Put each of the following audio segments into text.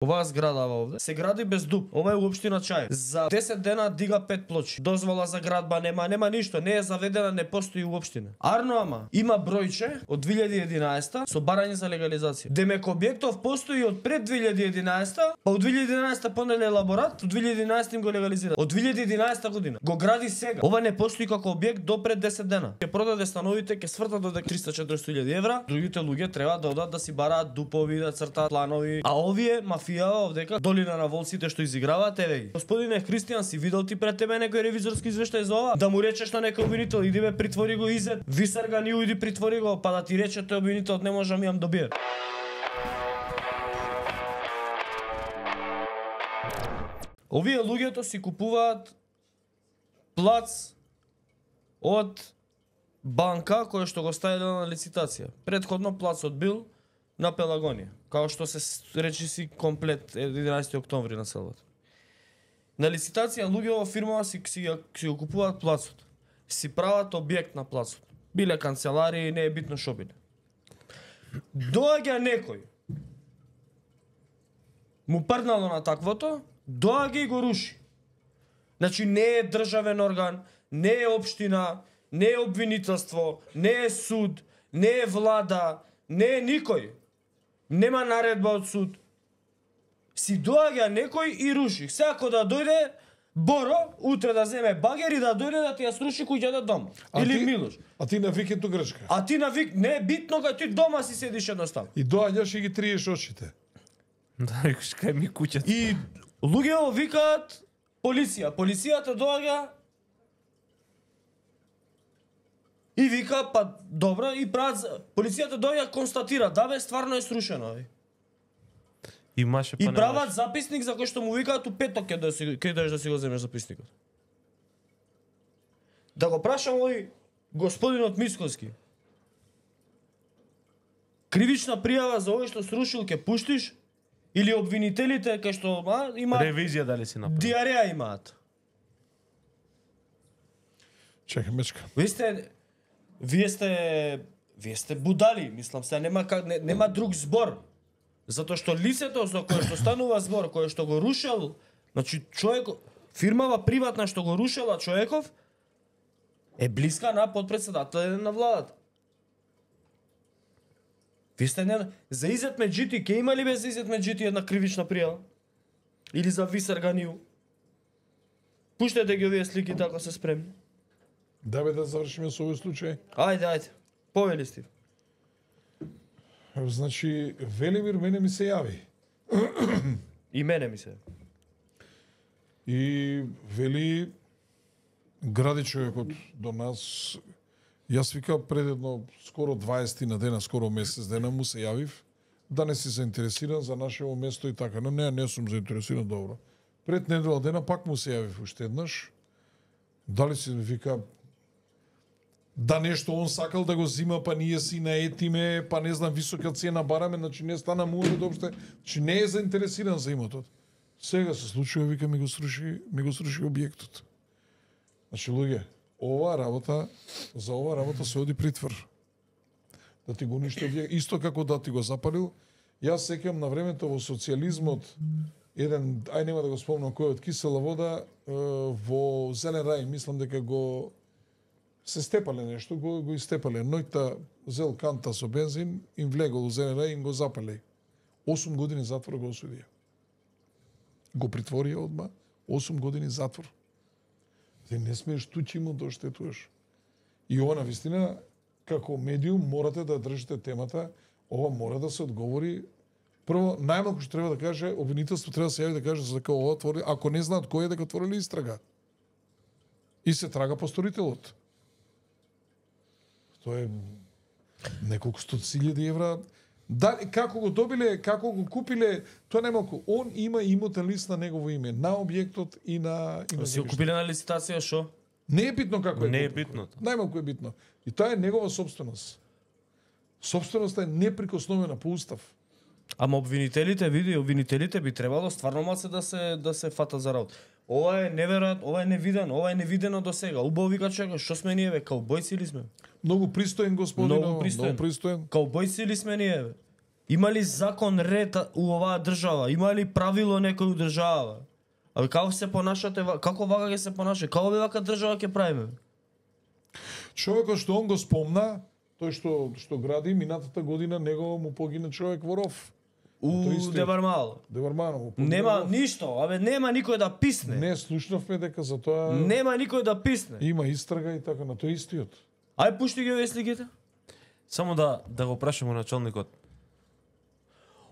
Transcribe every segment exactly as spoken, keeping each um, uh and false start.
Оваа зградава овде се гради без дуб. Ова е општина Чај. За десет дена дига пет плочи. Дозвола за градба нема, нема ништо, не е заведена, не постои уопштина. Арно ама има бројче од две илјади и единаесета со барање за легализација. Демек објектов постои од пред две илјади и единаесета, па од две илјади и единаесета понеле елаборат, од две илјади и единаесета им го легализира. Од две илјади и единаесета година го гради сега. Ова не постои како објект до пред десет дена. Ќе продаде становите, ќе свртат до триста четиристо илјади евра. Другите луѓе треба да одат да си бараат дупови, да цртаат планови. А овие мафијава овдека, долина на волците што изиграваат, еве ги. Господине Христијан, си видел ти пред тебе некој ревизорски извештај за ова? Да му речеш на некој обвинител, иди бе притвори го Изет, Висарга ни ујди притвори го, па да ти рече тој обвинител не може да ми јам добие. Овие луѓето си купуваат плац од банка која што го ставила на лицитација. Претходно плацот бил на Пелагонија, као што се речи си комплет единаесети октомври на селото. На лицитација луѓе во фирмава си, си, си го купуваат плацот. Си прават објект на плацот. Биле канцеларии, не е битно шо биле. Доаѓа некој, му прнало на таквото, доаѓа и го руши. Значи не е државен орган, не е општина, не е обвинителство, не е суд, не е влада, не е никој. Нема наредба од суд. Си доаѓа некој и руши. Секако да дојде Боро, утре да земе багер и да дојде да ти ја сруши куќата дома. А Или ти, Милош. А ти на викенду Грчка. А ти на вик, не е битно кога ти дома си седиш едноставно. И доаѓаш и ги триеш очите. Да, рекаш кај ми куќата. И луѓето викаат полиција. Полицијата доаѓа и вика, па добро, и прават, полицијата доаѓа констатира, да бе, стварно е срушено. Бе. Имаше па И не прават имаше. записник за кој што му викаат у петок ќе да си ќе дојдеш да си го земеш записникот. Да го прашам овој господинот Мисковски. Кривична пријава за овој што срушил ќе пуштиш или обвинителите кај што а, има Ревизија дали си направи? диареја имаат. Чекај, мечка. Вие сте вие сте вие сте будали, мислам се нема как не, нема друг збор. Затоа што лицето за кое што станува збор, кое што го рушел, значи човек, фирмава приватна што го рушела човеков, е блиска на подпредседател на владата. Ви сте не... За Изет Меджити, ке има ли бе за Изет Меджити една кривична пријава? Или за Висарга Ниу? Пуштете ги овие слики така се спремни. Да бе да завршиме со овој случај. Ајде, ајде. Повели Стив. Значи, Велимир мене ми се јави. И мене ми се. И вели, гради човекот до нас, јас вика пред едно скоро дваесет на дена, скоро месец дена му се јавив, да не си заинтересиран за нашево место и така. Но не, не сум заинтересиран, добро. Пред недела дена пак му се јавив уште еднаш. Дали си вика, да нешто он сакал да го зима, па ние си наетиме, па не знам, висока цена бараме, значи не стана му доопште, значи не е заинтересиран за имотот. Сега се случува, вика, ми го сруши, ми го сруши објектот. Значи, луѓе, оваа работа, за оваа работа се оди притвор. Да ти го уништи објект, исто како да ти го запалил. Јас сеќам на времето во социјализмот, еден, ај нема да го спомнам кој од кисела вода, во Зелен рај, мислам дека го се степале нешто, го, го истепале. Нојта зел канта со бензин, им влегол у Зелен рај, им го запале. осум години затвор го осудија. Го притворија одма, осум години затвор. Ти не смееш туѓи му да оштетуваш. И ова на вистина, како медиум, морате да држите темата, ова мора да се одговори. Прво, најмалку што треба да каже, обвинителство треба да се јави да каже за дека ова твори, ако не знаат кој е, дека отворили истрага. И се трага по сторителот. Тоа е неколку стотици илјади евра. Да, како го добиле, како го купиле, тоа немалку. Он има имотен лист на негово име, на објектот и на... И на Си го купиле на лицитација, шо? Не е битно како е. Не е купил. битно. Најмалку е битно. И тоа е негова собственост. Собственоста е неприкосновена по устав. Ама обвинителите, види, обвинителите би требало стварно маце да се да се фата за работа. Ова е неверојатно, ова е невидено, ова е невидено до сега. Убаво вика човек, што сме ние бе, каубојци ли сме? Многу пристоен господин, Многу пристоен. Многу пристоен. Каубојци ли сме ние бе? Има ли закон ред у оваа држава? Има ли правило некој у држава? А како се понашате, како вака ќе се понашате? Како бе вака држава ќе правиме? Човекот што он го спомна, тој што што гради минатата година, него му погина човек во ров. У триста Девармало. Девармано му погина. Нема во ров. ништо, абе нема никој да писне. Не слушнавме дека за тоа Нема никој да писне. има истрага и така на тој истиот. Ај пушти ги овие сликите. Само да да го прашаме началникот.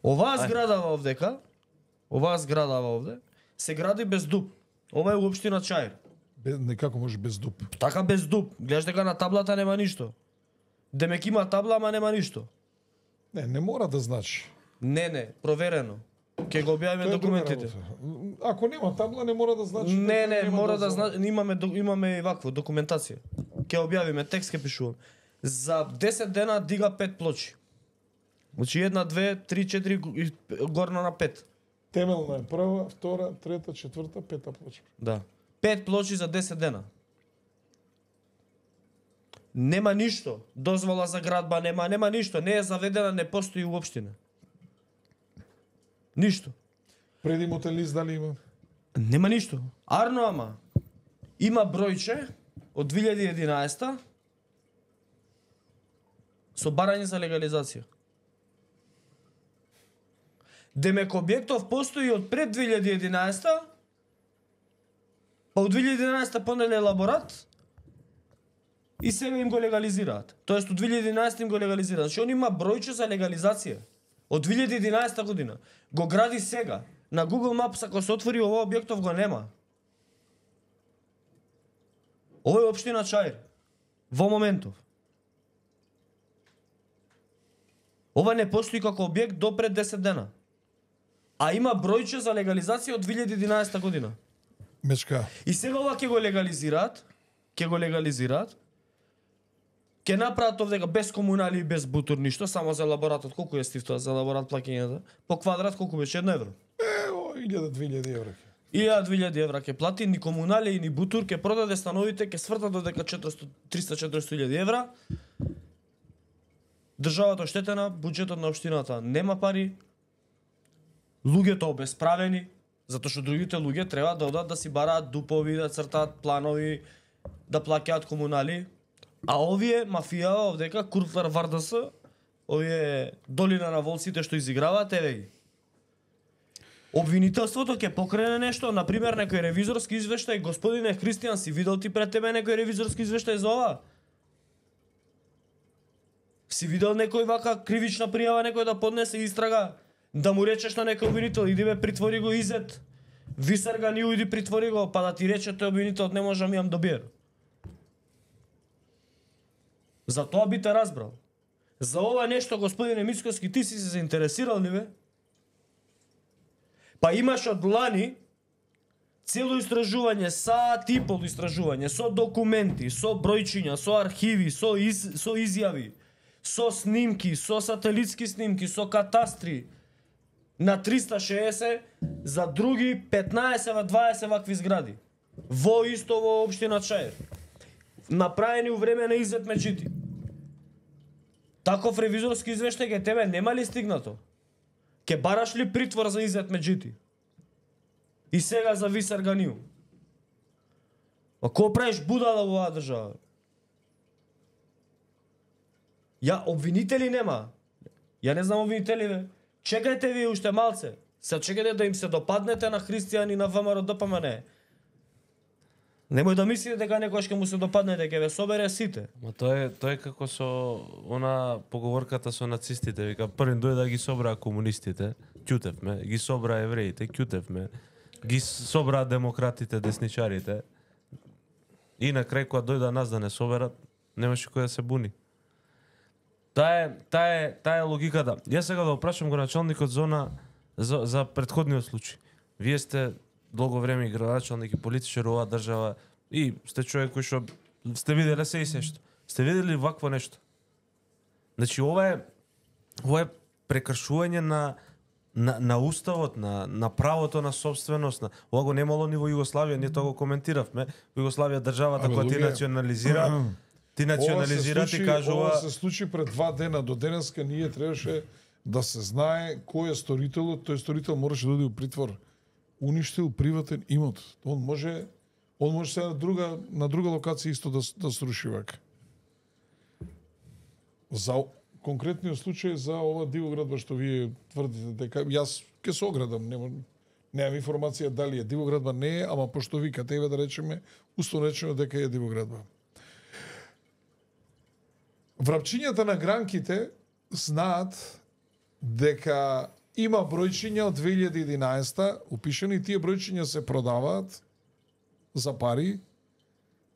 Оваа зграда овдека, оваа зграда овде се гради без дуб. Ова е општина Чаир. Без, некако може без дуб. Така без дуб. Гледаш дека на таблата нема ништо. Демек има табла, ама нема ништо. Не, не мора да значи. Не, не, проверено. Ќе го објавиме Тоа е друга документите. работа. Ако нема табла, не мора да значи. Не, дека не, нема мора да дозвола. значи, имаме до- имаме и вакво документација. Ќе објавиме текст, ќе пишувам. За десет дена дига пет плочи. Значи една, две, три, четири и горна на пет. Темелна е прва, втора, трета, четврта, пета плоча. Да. Пет плочи за десет дена. Нема ништо. Дозвола за градба нема, нема ништо. Не е заведена, не постои уопштина. Ништо. Преди мотелист дали има? Нема ништо. Арно ама. Има бројче од две илјади и единаесета со барање за легализација. Демек објектов постои од пред две илјади и единаесета, па од две илјади и единаесета понеле елаборат и сега им го легализираат. Тоест од две илјади и единаесета им го легализираат. Значи он има бројче за легализација. Од две илјади и единаесета година. Го гради сега. На Google Maps ако се отвори овој објектов го нема. Ова е општина Чаир. Во моментов. Ова не постои како објект до пред десет дена. А има бројче за легализација од две илјади и единаесета година. Мечка. И сега ова ќе го легализираат, ќе го легализираат, ќе направат овдека без комунали и без бутур ништо, само за елаборатот. Колку е стив тоа за елаборат плаќањето? По квадрат колку беше? Едно евро. Е, о, илјада две илјади евра. илјада две илјади евра ќе плати, ни комунали, ни бутур, ќе продаде становите, ќе свртат додека четиристо триста четиристо илјади евра. Државата оштетена, буџетот на општината нема пари, луѓето обесправени, затоа што другите луѓе треба да одат да си бараат дупови, да цртаат планови, да плаќаат комунали, а овие мафијава овдека Куртлар ВарДС, овие долина на волците што изиграваат, еве ги. Обвинителството ќе покрене нешто, на пример некој ревизорски извештај, господине Христијан, си видел ти пред тебе некој ревизорски извештај за ова? Си видел некој вака кривична пријава, некој да поднесе истрага, да му речеш на некој обвинител, иди бе притвори го Изет, Висар ga ни иди притвори го, па да ти рече тој обвинител не можам јам добиер. За тоа би те разбрал. За ова нешто, господине Мицкоски, ти си се заинтересирал ли бе? Па имаш од лани цело истражување, саат и пол истражување, со документи, со бројчиња, со архиви, со, из, со изјави, со снимки, со сателитски снимки, со катастри, на триста шеесет за други петнаесет дваесет вакви згради. Во исто во општина Чаир. Направени у време на Изет Меджити. Таков ревизорски извештај ке тебе нема ли стигнато? Ке бараш ли притвор за Изет Меджити? И сега за Висар Ганиу. А ко правиш будала во оваа држава? Ја обвинители нема. Ја не знам обвинители бе. Чекајте ви уште малце. Се чекајте да им се допаднете на Христијан и на ВМРО ДПМН. Немој да мислите дека некојаш ќе му се допаднете, ќе ве собере сите. Ма тоа е тоа е како со она поговорката со нацистите, вика првин дојде да ги собраа комунистите, ќутевме, ги собраа евреите, ќутевме, ги собраа демократите, десничарите. И на крај кога дојда нас да не соберат, немаше кој да се буни. Таа е, таа е, таа е логиката. Јас сега да опрашам го началникот за она, за, за претходниот случај. Вие сте долго време и градоначалник и политичар оваа држава и сте човек кој што сте виделе се и се што. Сте видели вакво нешто? Значи ова е ова е прекршување на на, на уставот, на на правото на собственост, на ова го немало ни во Југославија, ние тоа го коментиравме. Во Југославија државата Абе, која ти луѓе, национализира, ти национализира, ти кажува ова се случи пред два дена, до денеска ние требаше да се знае кој е сторителот, тој сторител можеше да оди у притвор. Уништил приватен имот. Он може он може се на друга на друга локација исто да да сруши вака. За конкретниот случај за ова дивоградба што вие тврдите дека јас ќе се оградам, нема немам информација дали е дивоградба, не е, ама пошто викате, еве да речеме, условно речено дека е дивоградба. Врапчињата на гранките знаат дека има бројчиња од две илјади и единаесета упишани, тие бројчиња се продаваат за пари,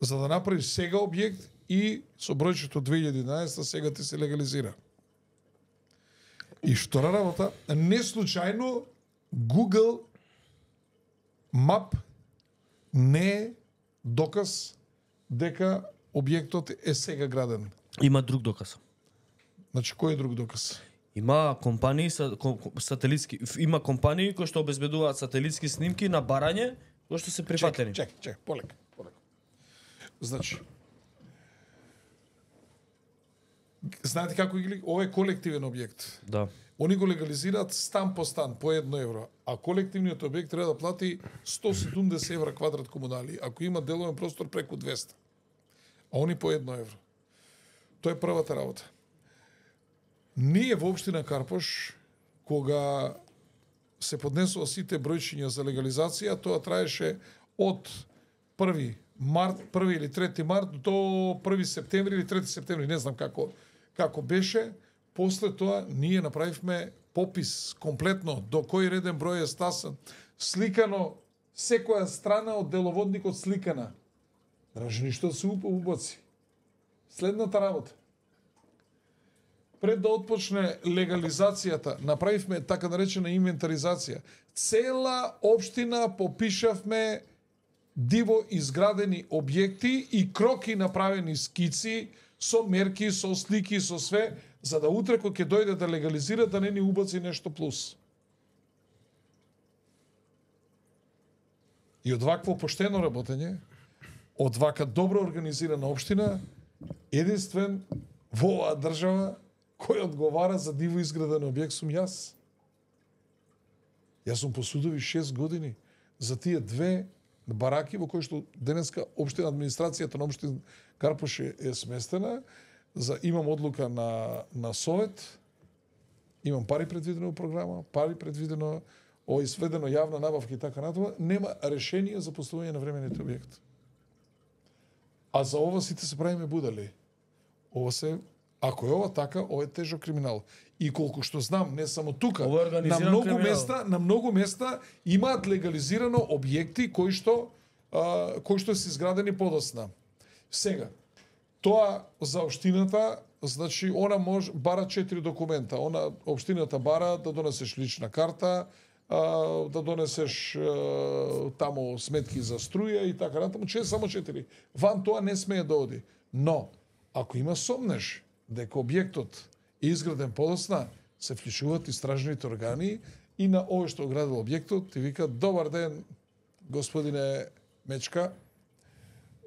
за да направиш сега објект и со бројчето две илјади и единаесета сега ти се легализира. И втора работа, не случајно Google Map не е доказ дека објектот е сега граден. Има друг доказ. Значи, кој е друг доказ? Има компании са, ком, сателитски, има компании кои што обезбедуваат сателитски снимки на барање кои што се прифатени. Чек, чек, чек, полека, полека. Значи, знаете како ги ова е колективен објект. Да. Они го легализираат стан по стан по едно евро, а колективниот објект треба да плати сто седумдесет евра квадрат комунали, ако има деловен простор преку двеста. А они по едно евро. Тоа е првата работа. Ние во општина Карпош, кога се поднесува сите бројчиња за легализација, тоа траеше од први март, први или трети март до први септември или трети септември, не знам како како беше. После тоа ние направивме попис комплетно до кој реден број е стасан, сликано секоја страна од деловодникот сликана. Дражи ништо да се убаци. Следната работа. Пред да отпочне легализацијата, направивме така наречена инвентаризација. Цела општина попишавме диво изградени објекти и кроки направени скици, со мерки, со слики, со све, за да утре кој ќе дојде да легализира, да не ни убаци нешто плюс. И од вакво поштено работење, од вака добро организирана општина, единствен во оваа држава кој одговара за диво изграден објект сум јас. Јас сум по судови шест години за тие две бараки во кои што денеска општина администрацијата на општина Карпош е сместена, за имам одлука на на совет, имам пари предвидено во програма, пари предвидено, о изведено јавна набавка и така натаму, нема решение за поставување на временните објекти. А за ова сите се правиме будали. Ова се, ако е ова така, ова е тежок криминал. И колку што знам, не само тука, на многу криминал. места, на многу места имаат легализирано објекти кои што а, кои што се изградени подосна. Сега, тоа за општината, значи она може бара четири документа. Она општината бара да донесеш лична карта, а, да донесеш а, тамо сметки за струја и така натаму, че само четири. Ван тоа не смее да оди. Но ако има сомнеш дека објектот е изграден подосна, се вклучуваат истражните органи и на овој што градил објектот ти вика: добар ден, господине Мечка,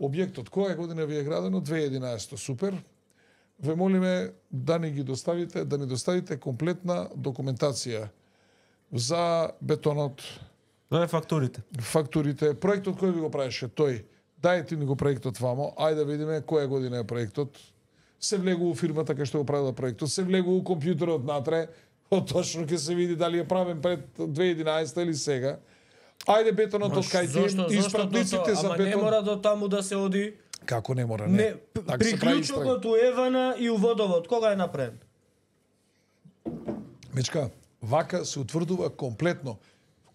објектот која година ви е градено? две илјади и единаесета. Супер. Ве молиме да ни ги доставите, да ни доставите комплетна документација за бетонот, Тоа е фактурите. фактурите, проектот кој ви го правеше тој. Дајте ни го проектот вамо, ајде да видиме која година е проектот. Се влегува у фирмата кај што го правила проектот, се влегува у компјутерот натре, точно ќе се види дали е правен пред две илјади и единаесета или сега. Ајде бетонот од кај ти, испратниците за ама бетон. не мора до таму да се оди. Како не мора, не. Не, Така се прави истрага. приклучокот у Евана и у водовод, кога е направен? Мечка, вака се утврдува комплетно.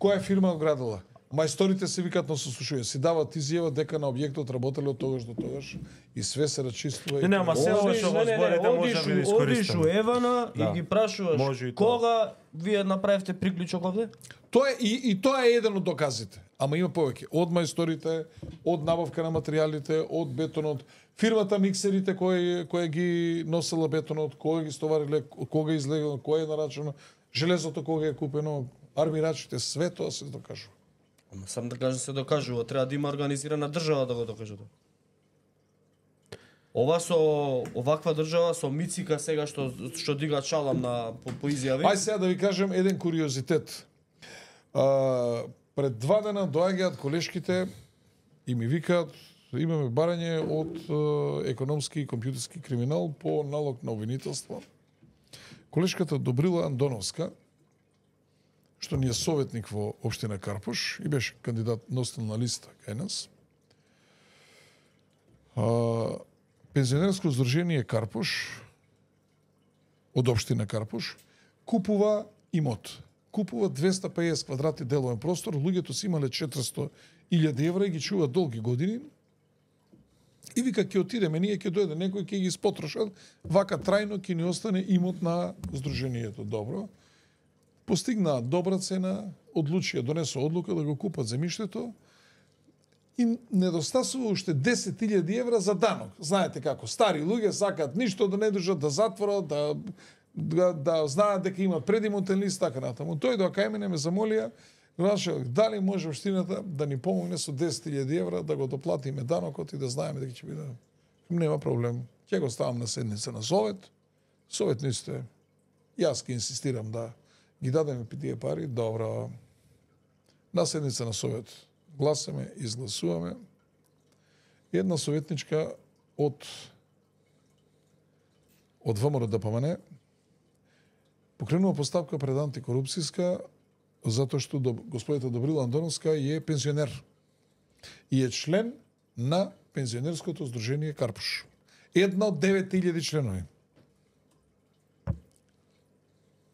Која фирма го градила? Мајсторите се викат на сослушување, си дават изјава дека на објектот работеле од тогаш до тогаш и све се рачистува. Не, не, ама се ова што го зборите може да биде Одиш у искористено. Евана Да. и ги прашуваш Може и тоа. кога вие направивте приклучок овде? Тоа е и, и тоа е еден од доказите. Ама има повеќе. Од мајсторите, од набавка на материјалите, од бетонот, фирмата миксерите кој која ги носела бетонот, која ги стовариле, кога е излегано, која е нарачено, железото кога е купено, армирачите, све тоа се докажува. Ама сам да кажам се докажува, треба да има организирана држава да го докаже тоа. Ова со оваква држава со Мицика сега што што дига чалам на по, по изјави. Ај сега да ви кажем еден куриозитет. А, пред два дена доаѓаат колешките и ми викаат имаме барање од е, економски и компјутерски криминал по налог на обвинителство. Колешката Добрила Андоновска, што ни е советник во општина Карпуш и беше кандидат носител на листа кај нас. А, Пензионерско здружение Карпуш од општина Карпуш купува имот. Купува двеста пеесет квадрати деловен простор, луѓето си имале четиристо илјади евра и ги чуваат долги години. И вика ќе отидеме, ние ќе дојде некој ќе ги испотрошат, вака трајно ќе ни остане имот на здруженијето. Добро. Постигна добра цена, одлучија, донесо одлука да го купат земјиштето и недостасува уште десет илјади евра за данок. Знаете како, стари луѓе сакаат ништо да не држат, да затворат, да, да, да знаат дека имат предимотен лист, така натаму. Тој до кај мене ме замолија, дали може општината да ни помогне со десет илјади евра да го доплатиме данокот и да знаеме дека ќе биде. Нема проблем. Ќе го ставам на седница на совет. Советниците, јас ќе инсистирам да ги дадеме тие пари. Добро. На седница на совет гласаме, изгласуваме. Една советничка од од ВМРО Д П М Н покренува постапка пред антикорупцијска затоа што господјата Добрила Андоновска е пензионер и е член на Пензионерското здружение Карпуш. Една од девет илјади членови.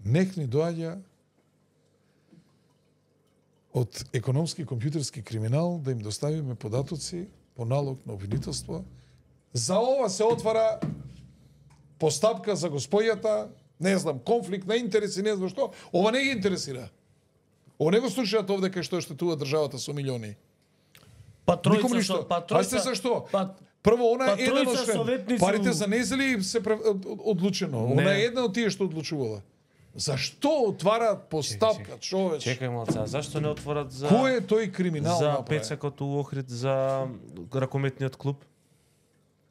Нек ни доаѓа од економски и компјутерски криминал да им доставиме податоци по налог на обвинителство. За ова се отвара постапка за господјата, не знам, конфликт на интереси, не знам што. Ова не ги интересира. Ова не го слушаат овде кај што штетува државата со милиони. Па тројца што, па тројца за што? Па прво она па е еден од советници... Парите за незели се одлучено. Не. Она е една од тие што одлучувала. Зашто отвараат постапка, човече? Чекај малце, зашто не отворат за Кој е тој криминал за направи? пецакот у Охрид за ракометниот клуб?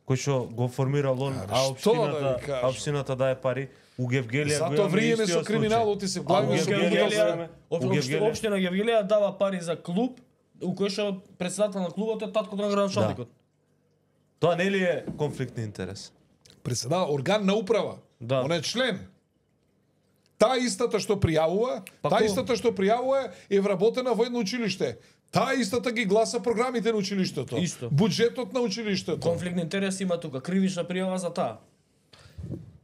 Кој што го формирал он, А, а што да општината, ви кажам? а општината дае пари, у Гевгелија го Зато имаме вриеме истиот со криминалот и се главиме со Гевгелија- криминалот. У Гевгелија- Општина Гевгелија дава пари за клуб, у кој што председател на клубот е таткото на градоначалникот. Тоа не ли е конфликт на интерес? Председател, орган на управа. Да. Он е член. Таа истата што пријавува, Па таа ко- истата што пријавува е вработена во едно училиште. Таа истата ги гласа програмите на училиштето. Исто. Буџетот на училиштето. Конфликт на интерес има тука, кривична пријава за таа.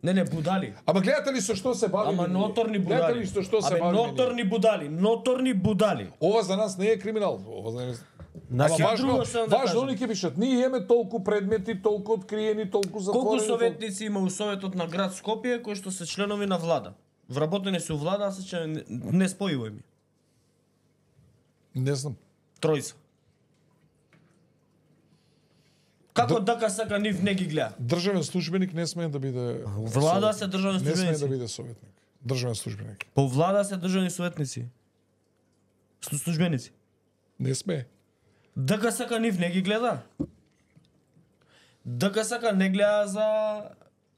Не, не, будали. Ама гледате ли со што се бавиме? Ама ние? ноторни Гледате будали. ли со што се Абе, бавиме? ние? ноторни будали, ноторни будали. Ова за нас не е криминал. Ова за нас... Ама Значи, важно, друго сакам да важно кажам. они ќе пишат. Ние имаме толку предмети, толку откриени, толку затворени. Колку толку- советници има у Советот на град Скопје кои што се членови на влада? Вработени се у влада, а се че не, не спојувај ми. Не знам. Тројца. Како дака сака нив не ги гледа? Државен службеник не смее да биде Влада се државни Не смее да службеници. биде советник. Државен службеник. По влада се државни советници. Слу- Службеници. Не смее. Дака сака нив не ги гледа. Дака сака не гледа за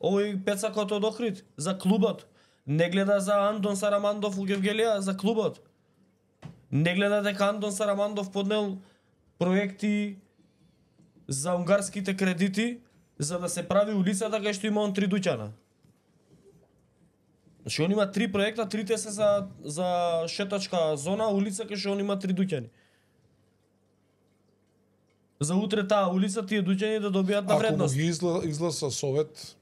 овој пецакот од Охрид, за клубот. Не гледа за Андон Сарамандов у Гевгелија, за клубот. Не гледа дека Андон Сарамандов поднел проекти за унгарските кредити за да се прави улицата кај што има он три дуќана. Значи он има три проекта, трите се за за шетачка зона, улица кај што он има три дуќани. За утре таа улица тие дуќани да добијат на Ако му вредност. ги изла, изгласа совет,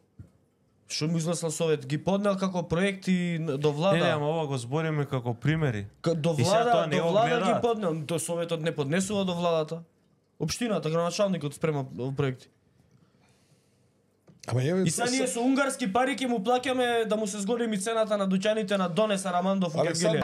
Што му изгласал совет, ги поднел како проекти до влада. Не, не, ама ова го збориме како примери. К- до И сега тоа влада, не до го влада гледаат. ги поднел, до советот не поднесува до владата. Општината, градоначалникот спрема проекти. ама еве И сега ние со унгарски пари ќе му плаќаме да му се зголеми цената на дуќаните на Доне Сарамандов у Александр- Гевгелија.